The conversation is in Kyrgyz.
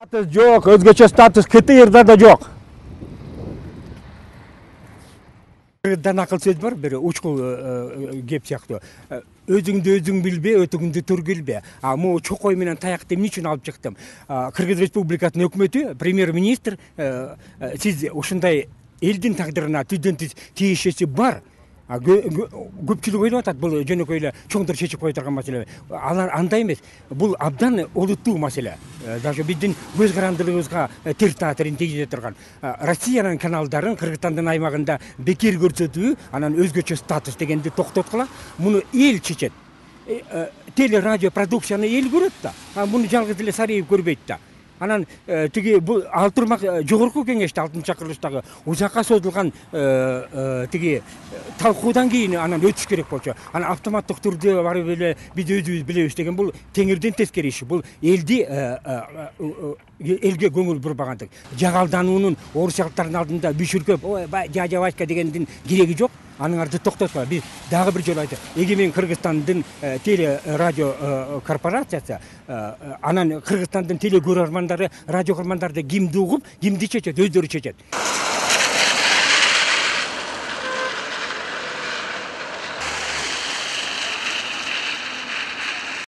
Статус жок, өзгөчө статус КТРда да жок. Кыргыздан акыл сөз бар, бир учкул кеп сыяктуу. Өзүңдү өзүң билбе, өтүңдү түргүлбе. Могу чокой менен таякты эмне үчүн алып чыктым? Кыргыз Республикасынын өкмөтү, премьер-министр, сиз ушундай элдин тагдырына түздөн түз тиешеси бар. Көпчүлүк ойлоп атат, бул жөнөкөй эле чоңдор чечип кое турган маселе. Алар андай эмес. Бул абдан олуттуу маселе. Даже биздин көз карандылыгыбызга тер таасирин тийгизе турган. Россиянын каналдарын Кыргызстандын аймагында бекер көрсөтүү, анан өзгөчө статус дегенди токтоткула. Муну эл чечет. Теле радио продукцияны эл көрөт да. Муну жалгыз эле Сариев көрбөйт да. Анан тиги бул ал турмак жогорку кеңеште 6-чакырылыштагы узакка созулган тиги талкуудан кийин анан өтүш керек болчу. Анан автоматтык түрдө барып эле биз өзүбүз билебиз деген бул теңирден тескери иш. Бул элге көңүл бурбагандык. Жагалдануунун орусиялыктардын алдында бүшүркөп, ой, жажа Васька дегендин кереги жок. Анын арды токтоткула. Биз дагы бир жолу айттык. Эгемен Кыргызстандын теле радио корпорациясы анан Кыргызстандын теле көрөрмандары, радио көрөрмандарды кимди угуп, кимди чечет, өздөрү чечет.